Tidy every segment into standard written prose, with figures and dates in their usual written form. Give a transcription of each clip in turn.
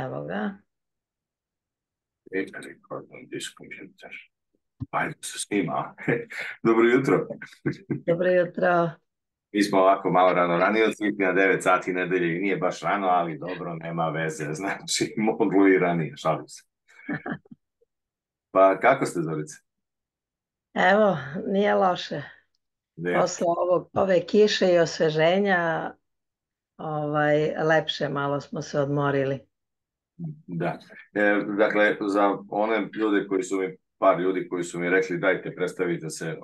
Evo ga. Recording this computer. Ajde se snima. Dobro jutro. Dobro jutro. Mi smo ovako malo ranije odslikli na 9 sati nedelje i nije baš rano, ali dobro, nema veze. Znači, moglo i ranije, šalim se. Pa kako ste, Zorice? Evo, nije loše. Ne. Posle ove kiše i osveženja, lepše malo smo se odmorili. Da. Dakle, za one ljude koji su mi, par ljudi koji su mi rekli dajte, predstavite se,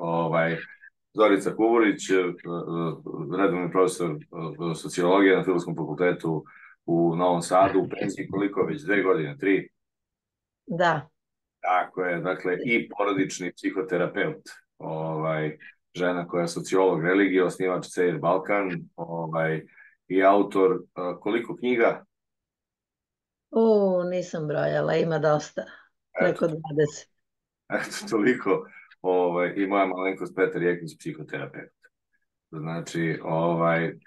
Zorica Kuburić, redovni profesor sociologije na Filozofskom fakultetu u Novom Sadu, u penziji koliko već, 2 godine, 3? Da. Tako je, dakle, i porodični psihoterapeut, žena koja je sociolog religije, osnivač CR Balkan, i autor koliko knjiga? Nisam brojala, ima dosta. Preko 20. Eto, toliko. I moja malenkost Petar Jekić, psihoterapeut. Znači,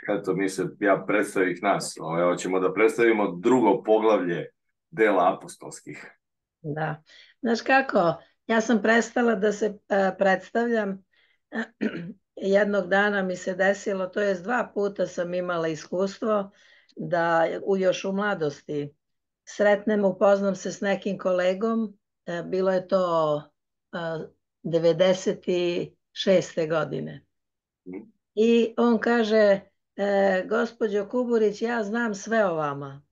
eto, ja predstavih nas, hoćemo da predstavimo drugo poglavlje dela apostolskih. Da. Znaš kako, ja sam prestala da se predstavljam. Jednog dana mi se desilo, to jest 2 puta sam imala iskustvo da još u mladosti sretnem, upoznam se s nekim kolegom, bilo je to 96. godine. I on kaže, gospođo Kuburić, ja znam sve o vama.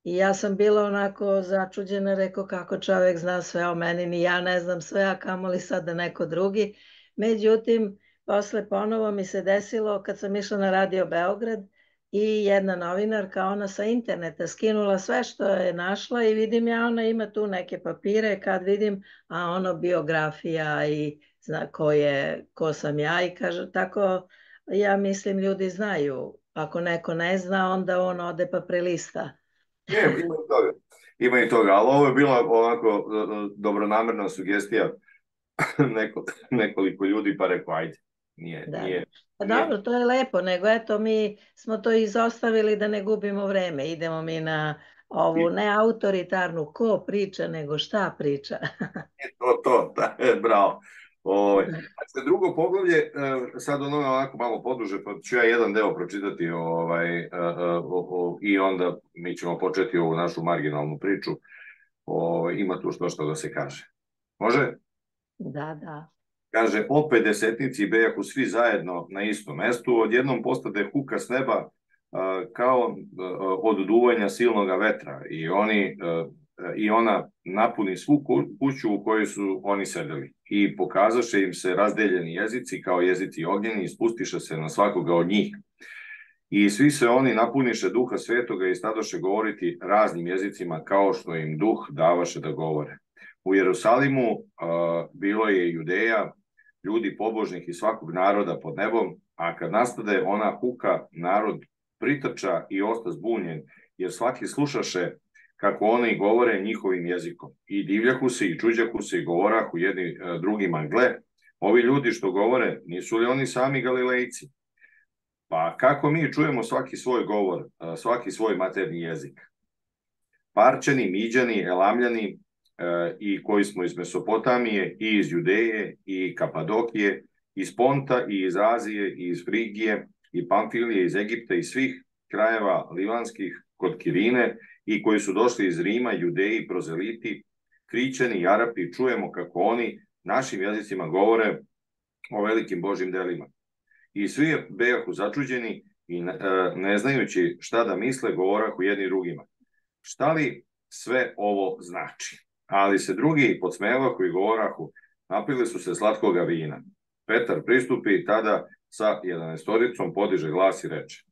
I ja sam bila onako začuđena, rekao kako čovjek zna sve o meni, ni ja ne znam sve, a kamoli sad da neko drugi. Međutim, posle ponovo mi se desilo kad sam išla na Radio Beograd i jedna novinarka, ona sa interneta skinula sve što je našla i vidim ja, ona ima tu neke papire, kad vidim, a ono biografija i zna ko sam ja i kaže, tako ja mislim ljudi znaju, ako neko ne zna, onda on ode pa prelista. Ne, ima i toga, ali ovo je bila ovako dobronamerna sugestija nekoliko ljudi, pa rekao, ajde, nije. Pa dobro, to je lepo, nego eto mi smo to izostavili da ne gubimo vreme, idemo mi na ovu ne autoritarnu ko priča, nego šta priča. Da, bravo. Dakle, drugo poglavlje, sad onako malo poduže, pa ću ja jedan deo pročitati i onda mi ćemo početi ovu našu marginalnu priču. Ima tu što da se kaže. Može? Da. Kaže, opet desetnici bejahu svi zajedno na istom mestu, odjednom postade huka s neba kao od duvanja silnoga vetra i ona napuni svu kuću u kojoj su oni sedeli i pokazaše im se razdeljeni jezici kao jezici ognjeni i spustiše se na svakoga od njih. I svi se oni napuniše duha svetoga i stadoše govoriti raznim jezicima kao što im duh davaše da govore. U Jerusalimu bilo je Judeja, ljudi pobožnih iz svakog naroda pod nebom, a kad nastade ona huka, narod pritrča i osta zbunjen, jer svaki slušaše kako oni govore njihovim jezikom. I divljahu se i čuđahu se i govorahu jedni drugima, gle, ovi ljudi što govore, nisu li oni sami Galilejci? Pa kako mi čujemo svaki svoj govor, svaki svoj materni jezik? Parčani, Miđani, Elamljani, i koji smo iz Mesopotamije i iz Judeje i Kapadokije, iz Ponta i iz Azije i iz Frigije i Pamfilije, iz Egipta i svih krajeva livanskih kod Kirine i koji su došli iz Rima, Judeji, prozeliti, Krićani i Arapi, čujemo kako oni našim jezicima govore o velikim Božjim delima. I svi bejahu začuđeni i ne znajući šta da misle, govorahu jedni drugima. Šta li sve ovo znači? Ali se drugi podsmevahu i govorahu, napili su se slatkoga vina. Petar pristupi i tada sa 11-oricom podiže glas i reče: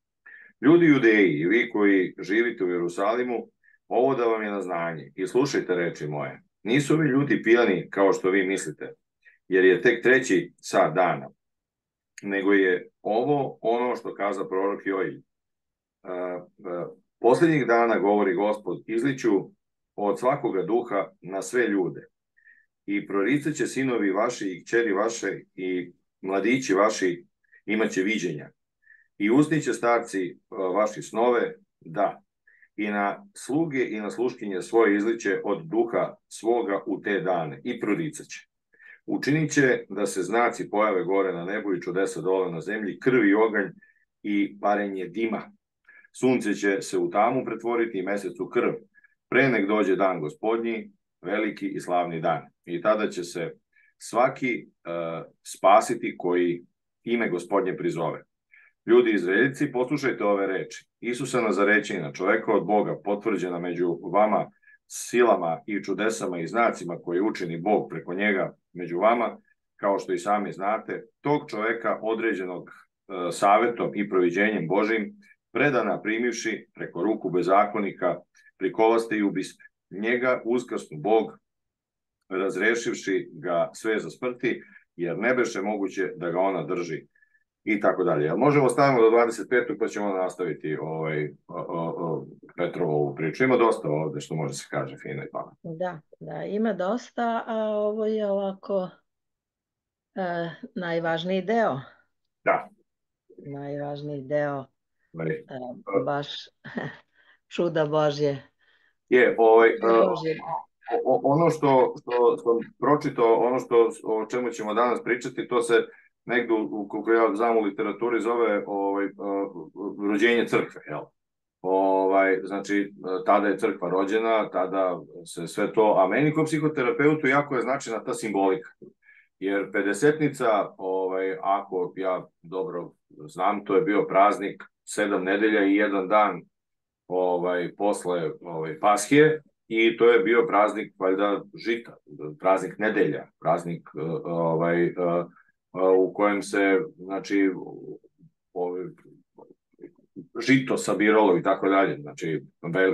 ljudi Judeji i vi koji živite u Jerusalimu, ovo da vam je na znanje i slušajte reči moje. Nisu ovi ljudi pijani kao što vi mislite, jer je tek 3. sat dana, nego je ovo ono što kaza prorok Joil. Posljednjih dana, govori Gospod, izliću od svakoga duha na sve ljude i proricaće sinovi vaši i kćeri vaše i mladići vaši imaće viđenja i usniće starci vaši snove, da, i na sluge i na sluškinje svoje izliće od duha svoga u te dane i proricaće. Učinit će da se znaci pojave gore na nebu i čudesa dole na zemlji, krv i oganj i parenje dima. Sunce će se u tamu pretvoriti i mesec u krv, pre nek dođe dan gospodnji, veliki i slavni dan. I tada će se svaki spasiti koji ime gospodnje prizove. Ljudi izraeljici, poslušajte ove reči. Isusa Nazarećina, čoveka od Boga, potvrđena među vama silama i čudesama i znacima koje učini Bog preko njega među vama, kao što i sami znate, tog čoveka određenog savetom i proviđenjem Božim, predana primivši preko ruku bezakonika, prikolaste i ubiste. Njega uskrsnu Bog, razrešivši ga sve za smrti, jer ne beše moguće da ga ona drži. I tako dalje. Možemo stavimo do 25. pa ćemo nastaviti Petrovu priču. Ima dosta ovde što može se kaže fino i pametno. Da, ima dosta, a ovo je ovako najvažniji deo. Da. Najvažniji deo, baš čuda Božje. Ono što sam pročitao, ono o čemu ćemo danas pričati, to se negdje, kako ja znam u literaturi, zove rođenje crkve, jel? Znači, tada je crkva rođena, tada se sve to, a meni kao psihoterapeutu jako je značajna ta simbolika, jer pedesetnica, ako ja dobro znam, to je bio praznik 7 nedelja i 1 dan posle Paschije, i to je bio praznik valjda žita, praznik nedelja, praznik u kojem se, znači, žito sabiralo i tako dalje. Znači,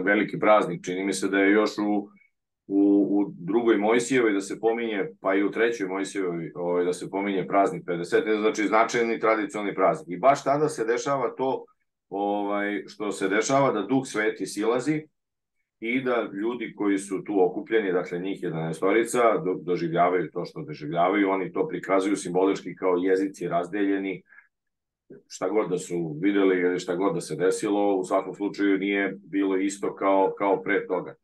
veliki praznik. Čini mi se da je još u drugoj Mojsijevoj da se pominje, pa i u trećoj Mojsijevoj da se pominje praznik 50. Znači, značajni tradicionalni praznik. I baš tada se dešava to što se dešava, da Duh Sveti silazi i da ljudi koji su tu okupljeni, dakle njih 11, doživljavaju to što doživljavaju. Oni to prikazuju simbolički kao jezici razdeljeni, šta god da su videli ili šta god da se desilo, u svakom slučaju nije bilo isto kao pre toga.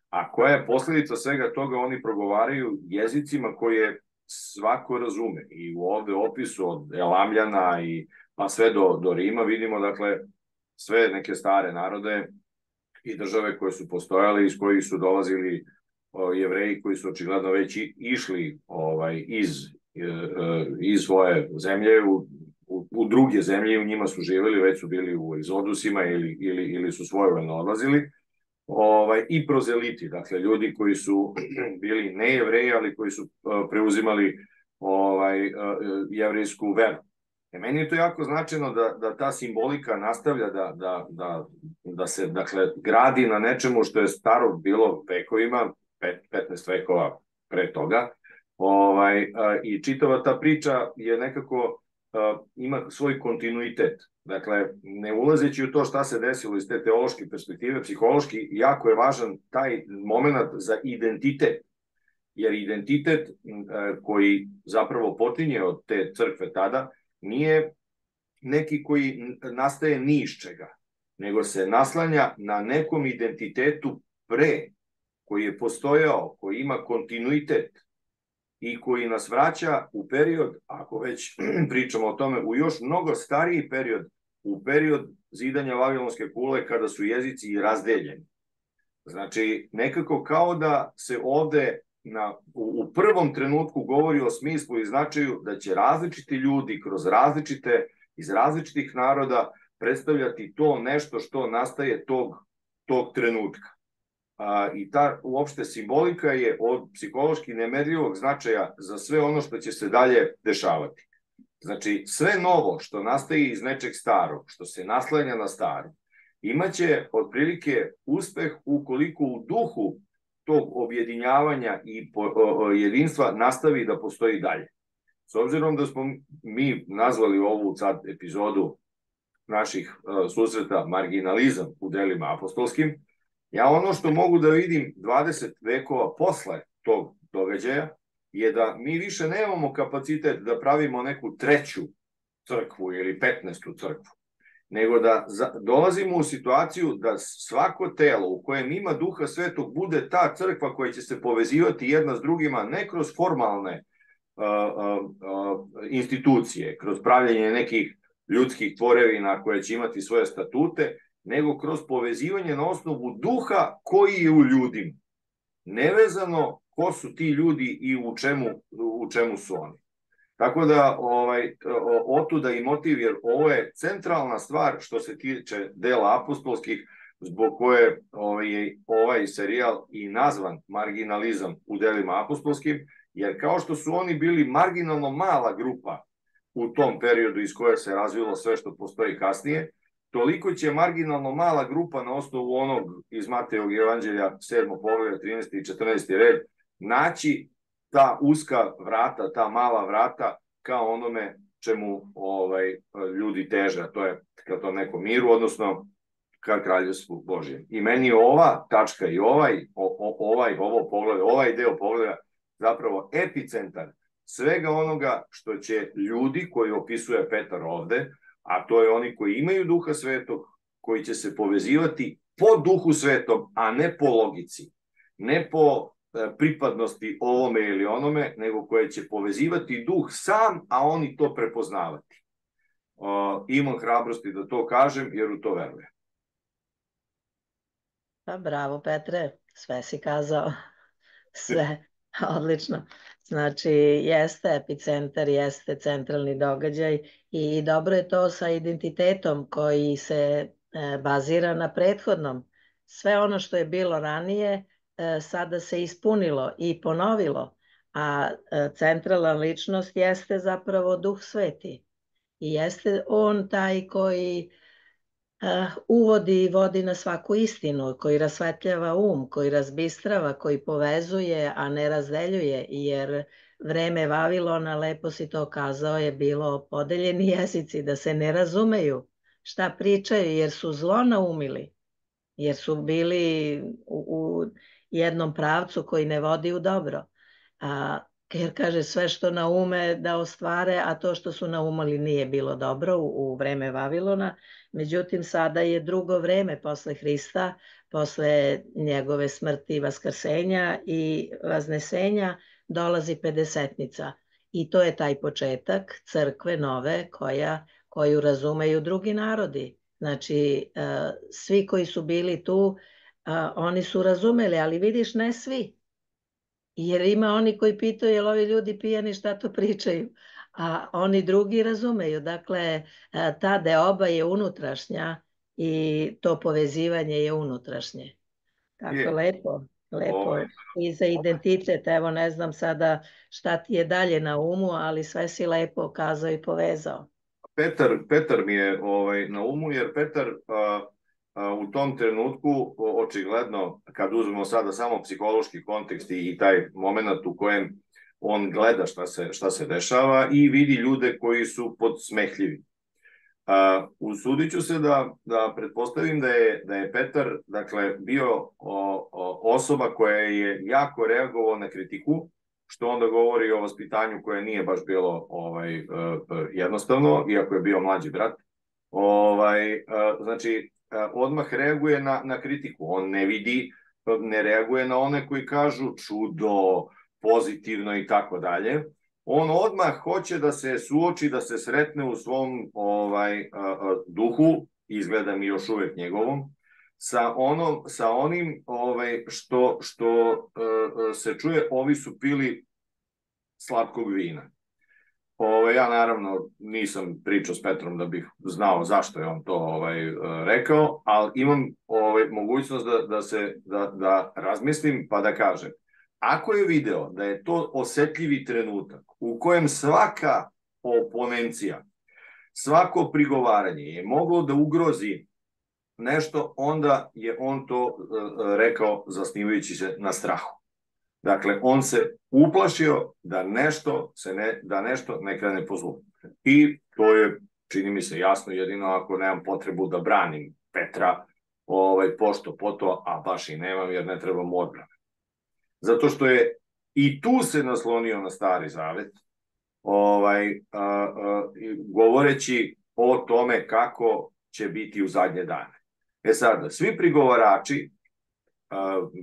A koja je posledica svega toga? Oni progovaraju jezicima koje svako razume. I u ovde opisu od Elamljana pa sve do Rima vidimo, dakle, sve neke stare narode i države koje su postojale, iz kojih su dolazili Jevreji koji su očigledno već išli iz svoje zemlje u druge zemlje i u njima su živjeli, već su bili u egzodusima ili su svojevoljno odlazili, i prozeliti, dakle ljudi koji su bili ne Jevreji, ali koji su preuzimali jevrejsku veru. Meni je to jako značajno da ta simbolika nastavlja da se, dakle, gradi na nečemu što je staro bilo vekovima, 15 vekova pre toga, i čitava ta priča je nekako, ima svoj kontinuitet. Dakle, ne ulazeći u to šta se desilo iz te teološke perspektive, psihološki jako je važan taj moment za identitet, jer identitet koji zapravo potinje od te crkve tada nije neki koji nastaje ni iz čega, nego se naslanja na nekom identitetu pre, koji je postojao, koji ima kontinuitet i koji nas vraća u period, ako već pričamo o tome, u još mnogo stariji period, u period zidanja Vavilonske kule, kada su jezici razdeljeni. Znači, nekako kao da se ovde u prvom trenutku govori o smislu i značaju da će različiti ljudi iz različitih naroda predstavljati to nešto što nastaje tog trenutka. I ta uopšte simbolika je od psihološki nemerljivog značaja za sve ono što će se dalje dešavati. Znači, sve novo što nastaje iz nečeg starog, što se naslanja na staro, imaće otprilike uspeh ukoliko u duhu tog objedinjavanja i jedinstva nastavi da postoji dalje. S obzirom da smo mi nazvali ovu sad epizodu naših susreta marginalizam u delima apostolskim, ja ono što mogu da vidim 20 vekova posle tog događaja je da mi više nemamo kapacitet da pravimo neku treću crkvu ili 15. crkvu. nego da dolazimo u situaciju da svako telo u kojem ima Duha Svetog bude ta crkva koja će se povezivati jedna s drugima, ne kroz formalne institucije, kroz pravljanje nekih ljudskih tvorevina koje će imati svoje statute, nego kroz povezivanje na osnovu duha koji je u ljudima. Nevezano ko su ti ljudi i u čemu su oni. Tako da, otuda i motiv, jer ovo je centralna stvar što se tiče dela apostolskih, zbog koje je ovaj serijal i nazvan Marginalizam u delima apostolskim, jer kao što su oni bili marginalno mala grupa u tom periodu iz koje se razvilo sve što postoji kasnije, toliko će marginalno mala grupa na osnovu onog iz Matejevog evanđelja 7. poglavlja 13. i 14. red naći ta uska vrata, ta mala vrata kao onome čemu ljudi teže, a to je ka tom nekom miru, odnosno ka kraljevstvu Božjem. I meni je ova tačka i ovo poglavlje, ovaj deo poglavlja zapravo epicentar svega onoga što će ljudi koji opisuje Petar ovde, a to je oni koji imaju Duha Svetog, koji će se povezivati po Duhu Svetom, a ne po logici, ne po pripadnosti ovome ili onome, nego koje će povezivati Duh sam, a oni to prepoznavati. Imam hrabrosti da to kažem, jer u to verujem. Pa bravo, Petre, sve si kazao. Sve, odlično. Znači, jeste epicentar, jeste centralni događaj i dobro je to sa identitetom koji se bazira na prethodnom. Sve ono što je bilo ranije sada se ispunilo i ponovilo, a centralna ličnost jeste zapravo Duh Sveti. I jeste on taj koji uvodi i vodi na svaku istinu, koji rasvetljava koji razbistrava, koji povezuje, a ne razdeljuje, jer vreme Vavilona, lepo si to kazao, je bilo podeljeni jezici, da se ne razumeju šta pričaju, jer su zlo naumili, jer su bili u jednom pravcu koji ne vodi u dobro. Jer kaže sve što naume da ostvare, a to što su naumali nije bilo dobro u vreme Vavilona. Međutim, sada je drugo vreme posle Hrista, posle njegove smrti, vaskrsenja i vaznesenja, dolazi pedesetnica. I to je taj početak crkve nove koju razumeju drugi narodi. Znači, svi koji su bili tu, oni su razumeli, ali vidiš, ne svi. Jer ima oni koji pitaju, jel ovi ljudi pijani, šta to pričaju? A oni drugi razumeju. Dakle, ta deoba je unutrašnja i to povezivanje je unutrašnje. Tako, lepo. I za identitet, evo ne znam sada šta ti je dalje na umu, ali sve si lepo kazao i povezao. Petar mi je na umu, jer Petar u tom trenutku, očigledno, kad uzmemo sada samo psihološki kontekst i taj moment u kojem on gleda šta se dešava i vidi ljude koji su podsmehljivi. Usudit ću se da pretpostavim da je Petar, dakle, bio osoba koja je jako reagovao na kritiku, što onda govori o vaspitanju koje nije baš bilo jednostavno, iako je bio mlađi brat. Znači, odmah reaguje na kritiku. On ne reaguje na one koji kažu čudo, pozitivno i tako dalje. On odmah hoće da se suoči, da se sretne u svom duhu, izgleda mi još uvek njegovom, sa onim što se čuje, ovi su pili slatkog vina. Ja naravno nisam pričao s Petrom da bih znao zašto je on to rekao, ali imam mogućnost da razmislim pa da kažem. Ako je video da je to osetljivi trenutak u kojem svaka oponencija, svako prigovaranje je moglo da ugrozi nešto, onda je on to rekao zasnivajući se na strahu. Dakle, on se uplašio da nešto ne krene po zlu. I to je, čini mi se, jasno, jedino ako nemam potrebu da branim Petra pošto po to, a baš i nemam jer ne trebam odbrane. Zato što je i tu se naslonio na Stari Zavet, govoreći o tome kako će biti u zadnje dane. Sad, svi prigovarači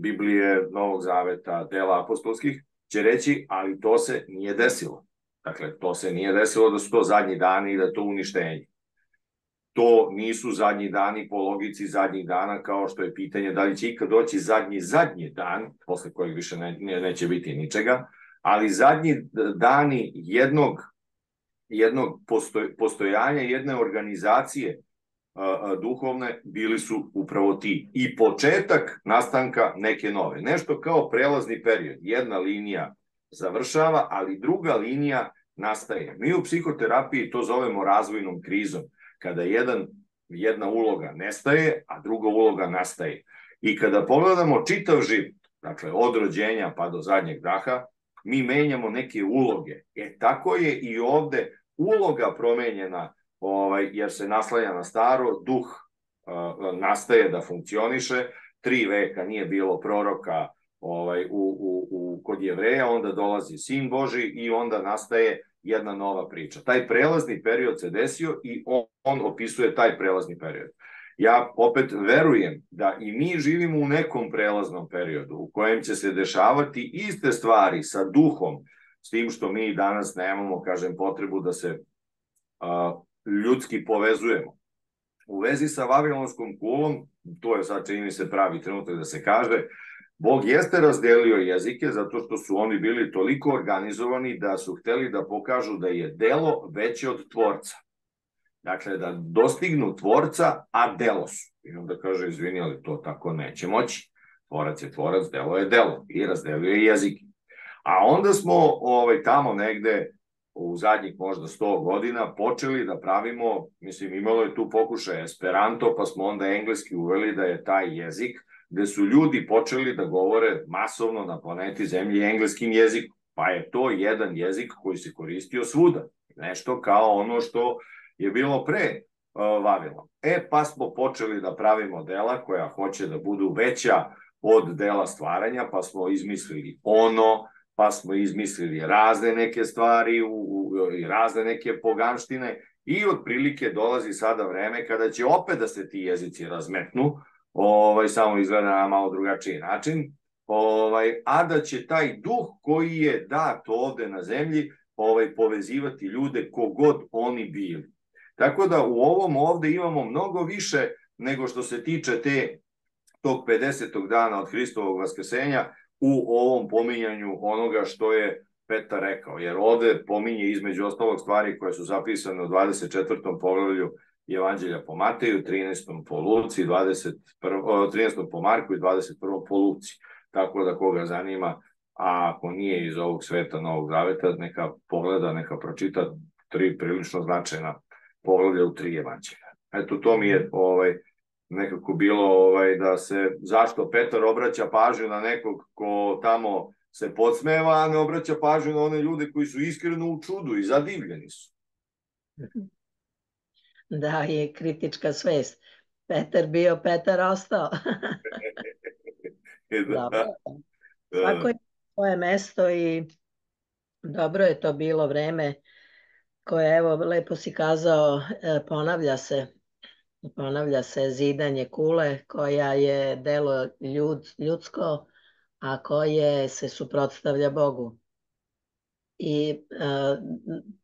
Biblije, Novog Zaveta, dela apostolskih, će reći, ali to se nije desilo. Dakle, to se nije desilo da su to zadnji dani i da je to uništenje. To nisu zadnji dani po logici zadnjih dana, kao što je pitanje da li će ikad doći zadnji dan, posle kojeg više neće biti ničega, ali zadnji dani jednog postojanja, jedne organizacije duhovne bili su upravo ti. I početak nastanka neke nove. Nešto kao prelazni period. Jedna linija završava, ali druga linija nastaje. Mi u psihoterapiji to zovemo razvojnom krizom. Kada jedna uloga nestaje, a druga uloga nastaje. I kada pogledamo čitav život, dakle od rođenja pa do zadnjeg daha, mi menjamo neke uloge. Tako je i ovde uloga promenjena, jer se naslanja na staro, duh nastaje da funkcioniše, 3 veka nije bilo proroka kod Jevreja, onda dolazi Sin Boži i onda nastaje jedna nova priča. Taj prelazni period se desio i on opisuje taj prelazni period. Ja opet verujem da i mi živimo u nekom prelaznom periodu u kojem će se dešavati iste stvari sa duhom, s tim što mi danas nemamo, kažem, potrebu da se ljudski povezujemo. U vezi sa Vavilonskom kulom, to je sad čini mi se pravi trenutak da se kaže, Bog jeste razdelio jezike zato što su oni bili toliko organizovani da su hteli da pokažu da je delo veće od tvorca. Dakle, da dostignu tvorca, a delo su. I onda kaže, izvini, ali to tako neće moći. Tvorac je tvorac, delo je delo. I razdelio je jezike. A onda smo tamo negde u zadnjih možda 100 godina počeli da pravimo, mislim, imalo je tu pokušaj Esperanto, pa smo onda engleski uveli da je taj jezik gde su ljudi počeli da govore masovno na planeti Zemlji engleskim jezikom. Pa je to jedan jezik koji se koristio svuda. Nešto kao ono što je bilo pre Vavilona. Pa smo počeli da pravimo dela koja hoće da budu veća od dela stvaranja, pa smo izmislili pa smo izmislili razne neke stvari i razne neke poganštine i otprilike dolazi sada vreme kada će opet da se ti jezici razmetnu, samo izgleda na malo drugačiji način, a da će taj duh koji je dat ovde na zemlji povezivati ljude kogod oni bili. Tako da u ovom ovde imamo mnogo više nego što se tiče tog 50. dana od Hristovog vaskrsenja u ovom pominjanju onoga što je Petar rekao, jer ovde pominje između ostalog stvari koje su zapisane u 24. poglavlju Evanđelja po Mateju, 13. po Luci, 13. po Marku i 21. po Luci. Tako da koga zanima, a ako nije iz ovog sveta Novog Zaveta, neka pogleda, neka pročita 3 prilično značajna poglavlja u 3 evanđelja. Eto, to mi je nekako bilo da se, zašto Petar obraća pažnju na nekog ko tamo se podsmeva, a ne obraća pažnju na one ljude koji su iskreno u čudu i zadivljeni su. Da, je kritička svest. Petar bio, Petar ostao. Dobro. Svako je svoje mesto i dobro je to bilo vreme koje, evo, lepo si kazao, ponavlja se zidanje kule koja je delo ljudsko, a koje se suprotstavlja Bogu. I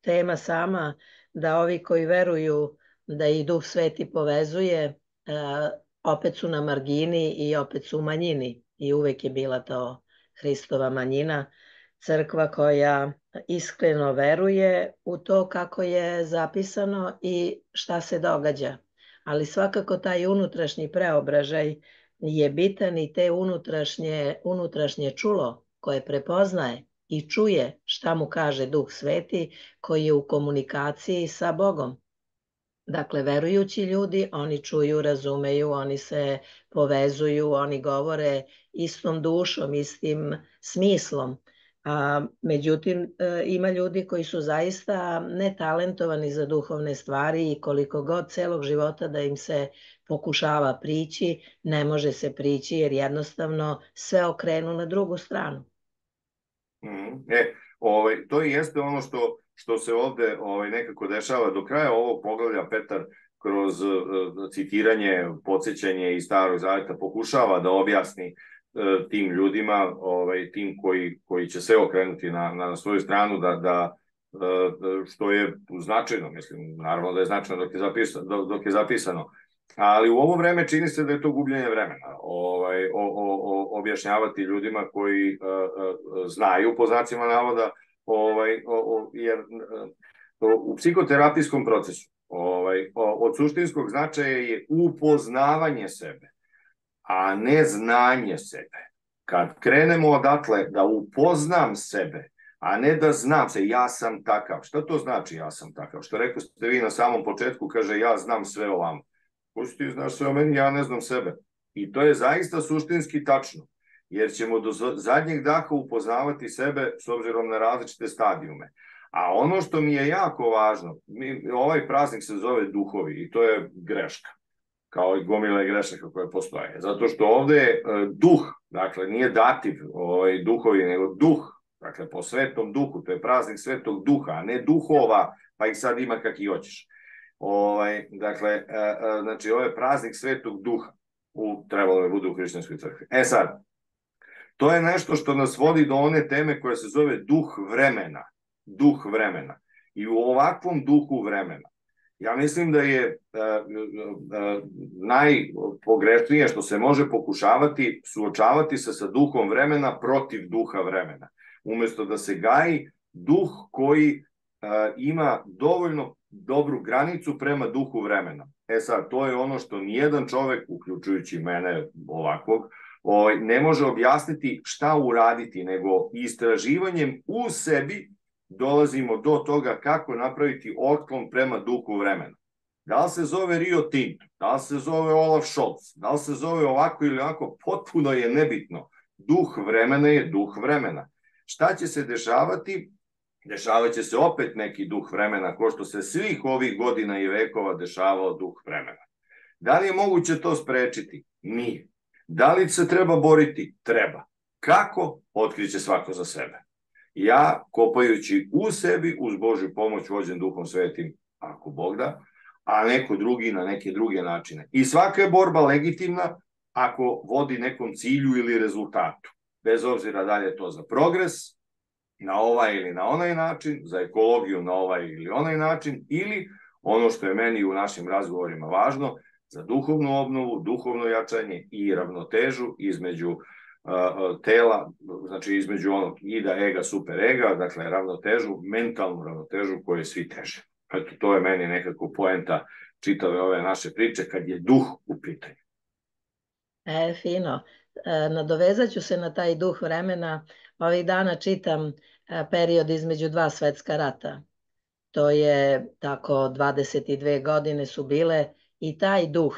tema sama da ovi koji veruju da i Duh Sveti povezuje, opet su na margini i opet su u manjini. I uvek je bila to Hristova manjina, crkva koja iskreno veruje u to kako je zapisano i šta se događa. Ali svakako taj unutrašnji preobražaj je bitan i te unutrašnje čulo koje prepoznaje i čuje šta mu kaže Duh Sveti koji je u komunikaciji sa Bogom. Dakle, verujući ljudi, oni čuju, razumeju, oni se povezuju, oni govore istom dušom, istim smislom. Međutim, ima ljudi koji su zaista netalentovani za duhovne stvari i koliko god celog života da im se pokušava prići, ne može se prići jer jednostavno sve okrenu na drugu stranu. To jeste ono što se ovde nekako dešava. Do kraja ovog poglavlja Petar kroz citiranje, podsjećanje iz Starog Zaveta pokušava da objasni tim ljudima, tim koji će se okrenuti na svoju stranu, što je značajno, mislim, naravno da je značajno dok je zapisano. Ali u ovo vreme čini se da je to gubljenje vremena, objašnjavati ljudima koji znaju, po znacima navoda, jer u psihoterapijskom procesu od suštinskog značaja je upoznavanje sebe, a ne znanje sebe. Kad krenemo odatle da upoznam sebe, a ne da znam se, ja sam takav. Šta to znači ja sam takav? Što rekao ste vi na samom početku, kaže ja znam sve o vama. Ko si ti znaš sve o meni, ja ne znam sebe. I to je zaista suštinski tačno, jer ćemo do zadnjeg daha upoznavati sebe s obzirom na različite stadijume. A ono što mi je jako važno, ovaj praznik se zove duhovi i to je greška, kao i gomile grešaka koje postoje. Zato što ovde je duh, dakle nije dativ duhovi, nego duh, dakle po svetom duhu, to je praznik svetog duha, a ne duhova, pa ih sad ima kak i hoćeš. Dakle, znači ovo je praznik svetog duha, trebalo da bude u hrišćanskoj crkvi. Sad, to je nešto što nas vodi do one teme koja se zove duh vremena. Duh vremena. I u ovakvom duhu vremena, ja mislim da je najpogrešnije što se može pokušavati suočavati se sa duhom vremena protiv duha vremena. Umesto da se gaji duh koji ima dovoljno dobru granicu prema duhu vremena. Sad, to je ono što nijedan čovek, uključujući mene ovakvog, ne može objasniti šta uraditi, nego istraživanjem u sebi dolazimo do toga kako napraviti otklon prema duhu vremena. Da li se zove Rio Tinto, da li se zove Olaf Scholz, da li se zove ovako ili ovako, potpuno je nebitno. Duh vremena je duh vremena. Šta će se dešavati? Dešavat će se opet neki duh vremena, ko što se svih ovih godina i vekova dešavao duh vremena. Da li je moguće to sprečiti? Nije. Da li se treba boriti? Treba. Kako? Otkriće svako za sebe. Ja, kopajući u sebi, uz Božju pomoć, vođen Duhom Svetim, ako Bog da, a neko drugi na neke druge načine. I svaka je borba legitimna ako vodi nekom cilju ili rezultatu. Bez obzira da li je to za progres, na ovaj ili na onaj način, za ekologiju na ovaj ili onaj način, ili ono što je meni u našim razgovorima važno, za duhovnu obnovu, duhovno jačanje i ravnotežu između tela, znači između onog ida, ega, super ega, dakle ravnotežu, mentalnu ravnotežu koju svi teže. Eto, to je meni nekako poenta čitave ove naše priče kad je duh u pitanju. Fino. Nadovezat ću se na taj duh vremena. Ovih dana čitam period između dva svetska rata. To je tako 22 godine su bile i taj duh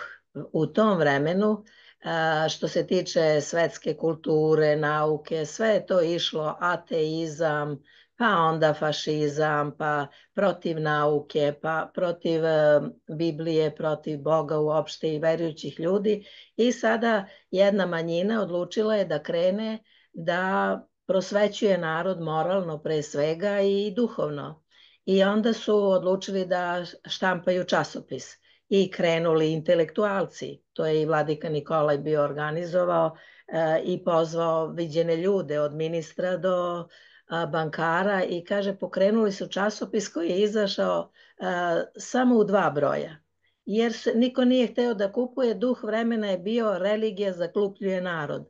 u tom vremenu, što se tiče svetske kulture, nauke, sve je to išlo, ateizam, pa onda fašizam, pa protiv nauke, pa protiv Biblije, protiv Boga uopšte i verujućih ljudi. I sada jedna manjina odlučila je da krene da prosvećuje narod moralno pre svega i duhovno. I onda su odlučili da štampaju časopis i krenuli intelektualci. To je i vladika Nikolaj bio organizovao i pozvao viđene ljude od ministra do bankara i kaže pokrenuli su časopis koji je izašao samo u 2 broja. Jer niko nije hteo da kupuje, duh vremena je bio religija zaglupljuje narod.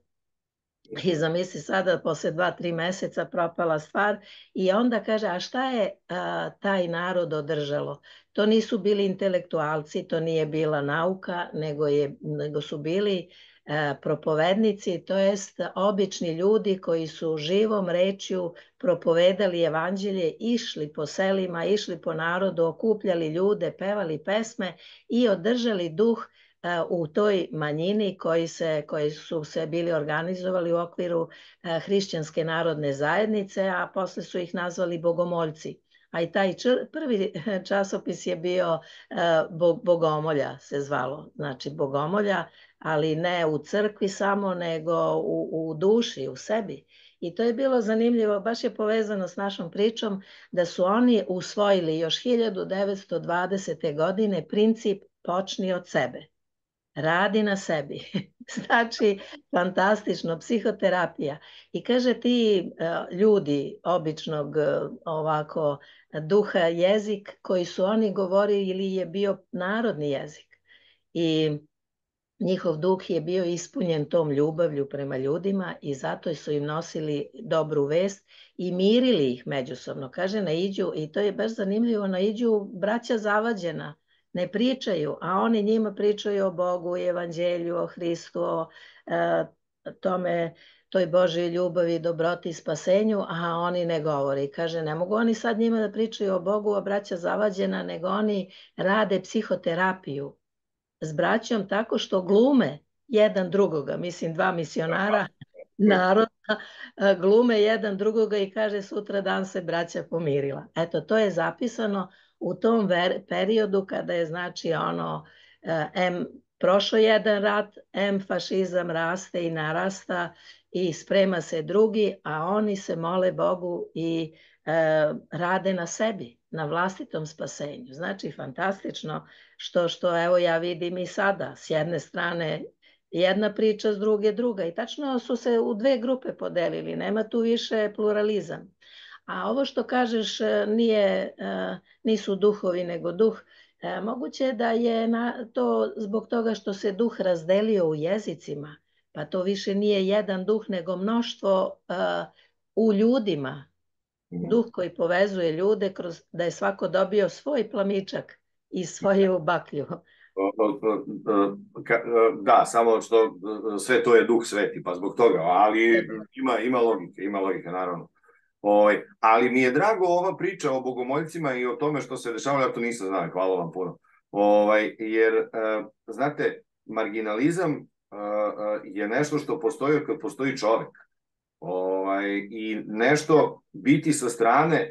I zamisli sada posle 2-3 meseca propala stvar i onda kaže a šta je taj narod održalo? To nisu bili intelektualci, to nije bila nauka, nego su bili propovednici, to jest obični ljudi koji su živom rečju propovedali evanđelje, išli po selima, išli po narodu, okupljali ljude, pevali pesme i održali duh u toj manjini koji su se bili organizovali u okviru hrišćanske narodne zajednice, a posle su ih nazvali bogomoljci. A i taj prvi časopis je bio Bogomolja se zvalo, znači Bogomolja, ali ne u crkvi samo, nego u duši, u sebi. I to je bilo zanimljivo, baš je povezano s našom pričom, da su oni usvojili još 1920. godine princip počni od sebe. Radi na sebi. Znači, fantastično, psihoterapija. I kaže ti ljudi običnog ovako duha jezik koji su oni govorili ili je bio narodni jezik. I njihov duh je bio ispunjen tom ljubavlju prema ljudima i zato su im nosili dobru vest i mirili ih međusobno. Kaže, naiđu, i to je baš zanimljivo, naiđu braća zavađena, ne pričaju, a oni njima pričaju o Bogu, evanđelju, o Hristu, o toj Božoj ljubavi, dobroti, spasenju, a oni ne govore. I kaže, ne mogu oni sad njima da pričaju o Bogu, o braća zavađena, nego oni rade psihoterapiju s braćom tako što glume jedan drugoga, mislim dva misionara naroda glume jedan drugoga i kaže sutra dan se braća pomirila. Eto, to je zapisano u tom periodu kada je znači ono prošao jedan rat, fašizam raste i narasta i sprema se drugi, a oni se mole Bogu i rade na sebi, na vlastitom spasenju. Znači, fantastično što evo ja vidim i sada, s jedne strane jedna priča, s druge druga. I tačno su se u dve grupe podelili, nema tu više pluralizam. A ovo što kažeš nisu duhovi nego duh, moguće je da je to zbog toga što se duh razdelio u jezicima, pa to više nije jedan duh nego mnoštvo u ljudima. Duh koji povezuje ljude kroz da je svako dobio svoj plamičak i svoju baklju. Da, samo što sve to je duh sveti, pa zbog toga, ali ima logike, naravno. Ali mi je drago ova priča o bogomoljcima i o tome što se dešavalo, ja to nisam znao, hvala vam puno. Jer, znate, marginalizam je nešto što postoji kad postoji čovek. I nešto biti sa strane,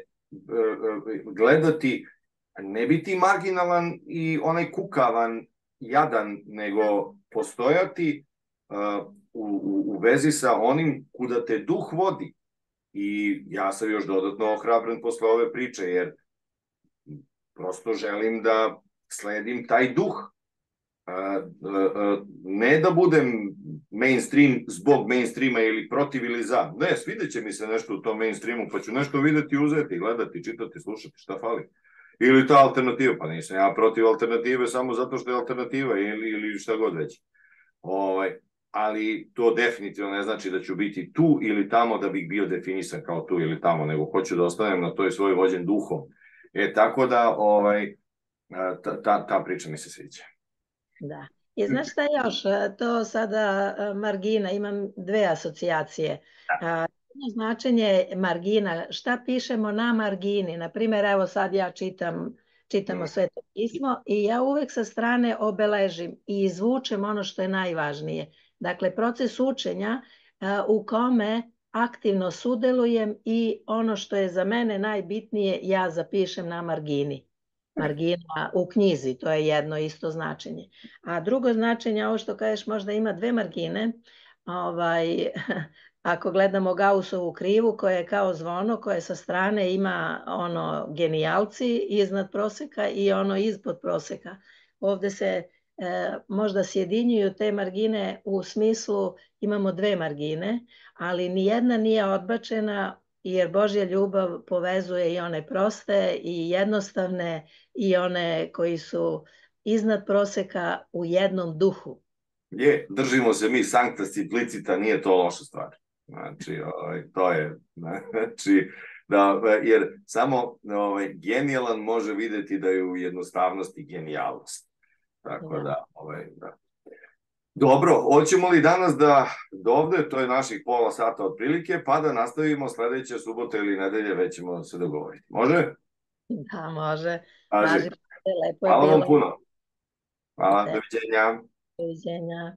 gledati, ne biti marginalan i onaj kukavan, jadan, nego postojati u vezi sa onim kuda te duh vodi. I ja sam još dodatno ohrabren posle ove priče, jer prosto želim da sledim taj duh. Ne da budem mainstream zbog mainstreama ili protiv ili za. Ne, svidjet će mi se nešto u tom mainstreamu, pa ću nešto videti, uzeti, gledati, čitati, slušati, šta fali. Ili ta alternativa, pa nisam ja protiv alternative samo zato što je alternativa ili šta god već. Ali to definitivno ne znači da ću biti tu ili tamo da bih bio definisan kao tu ili tamo, nego hoću da ostanem na toj svoj vođen duhom. Tako da ta priča mi se sviđa. Da. I znaš šta još, to sada margina, imam dve asocijacije. Jedno značenje margina, šta pišemo na margini, na primjer, evo sad ja čitamo Sveto pismo i ja uvek sa strane obeležim i izvučem ono što je najvažnije. Dakle, proces učenja u kome aktivno sudelujem i ono što je za mene najbitnije ja zapišem na margini. Margina u knjizi, to je jedno isto značenje. A drugo značenje, ovo što kažeš, možda ima dve margine, ako gledamo Gaussovu krivu koja je kao zvono, koje sa strane ima ono genijalci iznad proseka i ono ispod proseka. Ovde se možda sjedinjuju te margine u smislu imamo dve margine, ali nijedna nije odbačena jer Božja ljubav povezuje i one proste i jednostavne i one koji su iznad proseka u jednom duhu. Držimo se mi sancta simplicita, nije to loša stvar. Znači, to je, znači, jer samo genijalan može videti da je u jednostavnosti genijalnost. Tako da. Dobro, hoćemo li danas da ovde, to je naših pola sata otprilike, pa da nastavimo sledeće subote ili nedelje, već ćemo se dogovoriti. Može? Da, može. Hvala vam puno. Hvala, doviđenja. Doviđenja.